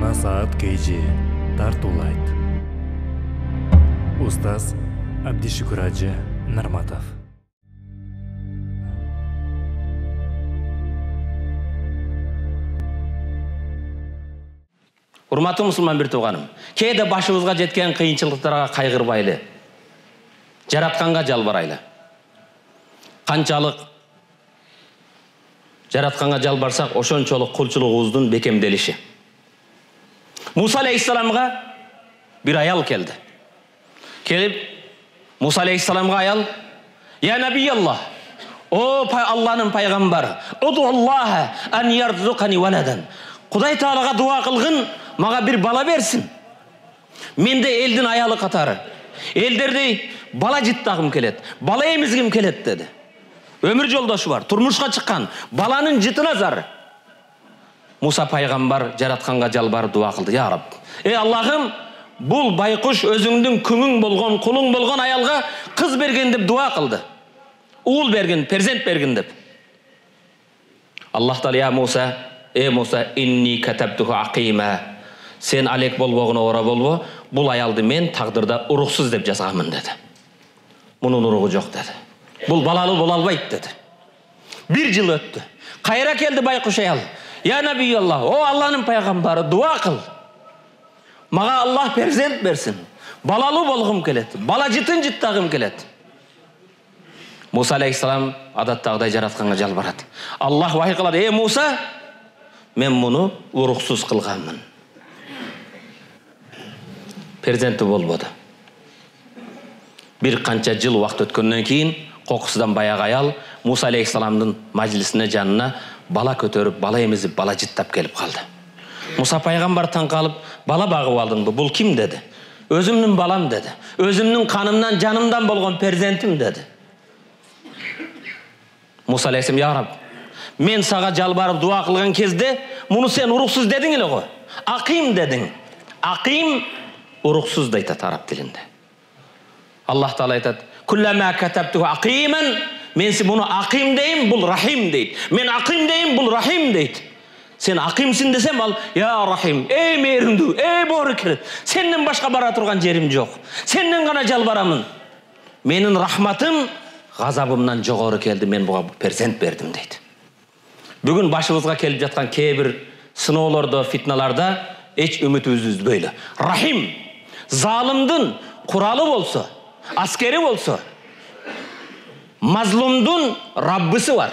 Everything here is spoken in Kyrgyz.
Жана саат KG тартуулайт. Устаз Абдишүкүр Ажы Нарматов. Урматтуу мусулман бир тууганым, кээде башыбызга жеткен кыйынчылыктарга кайгырбайлы, жаратканга жалбарайлы. Канчалык жаратканга жалбарсак, ошончолук кулчулугубуздун бекемделиши. Муса алейхиссаламга бир аял келди. Келип, Муса алейхиссаламга аял: "Я набияллах, о Аллахнын пайгамбары, уду Аллаха ан ярзукани валадан. Кудай Таалага дуа кылгын, мага бир бала берсин. Менде элдин аялы катары. Элдерди бала жыттагым келет, бала эмизгим келет" деди. Өмүр жолдошу бар, турмушка чыккан, баланын жытына зар. Муса пайгамбар жаратканга жалбарып дуа кылды: "Я Рабб, Аллахым, бул байкуш өзүңдүн күңүң болгон, кулуң болгон аялга кыз берген деп дуа кылды. Уул берген, перзент берген деп." Аллах Таала: "Я Муса, Муса, инни катабтуху акима. Сен алек болбогуна ора болбо, бул аялды мен тагдырда уруксуз деп жазганмын" деди. Мунун уругу жок деди. Бул балалуу боло албайт деди. Бир жыл өттү. Кайра келди байкуш аял: "Я набияллах, о Аллахнын пайгамбары, дуа кыл. Мага Аллах перзент берсин. Балалуу болгум келет, бала жытын жыттагым келет." Муса алейхиссалам адаттагыдай жаратканга жалбарат. Аллах вахий кылат: Муса, мен муну уруксуз кылганмын. Перзенти болбоду. Бир канча жыл убакыт өткөндөн кийин кокусудан баягы аял Муса алейхиссаламдын мажлисине жанына бала көтөрүп, бала эмизип, бала жыттап келип калды. Муса пайгамбар таң калып: "Бала багып алдыңбы? Бул ким?" деди. "Өзүмдүн балам" деди. "Өзүмдүн канымдан, жанымдан болгон перзентим" деди. Муса алейхиссалам: "Я Рабб, мен сага жалбарып дуа кылган кезде муну сен уруксуз дедиң эле го. Аким дедиң." Аким уруксуз дейт араб тилинде. Аллах Таала айтат: "Куллама катабту акиман", мен муну аким дейм, бул рахим дейт. Мен аким дейм, бул рахим дейт. Сен акимсин десем, ал: "Я рахим, мээримдүү, боорукер. Сенден башка бара турган жерим жок. Сенден гана жалбарамын. Менин рахматым газабымдан жогору келди, мен буга перзент бердим" дейт. Бүгүн башыбызга келип жаткан кээ бир сыноолордо, фитналарда эч үмүтүбүздү үзбөйлү. Рахим, залымдын куралы болсо, аскери болсо, мазлумдун Раббысы бар.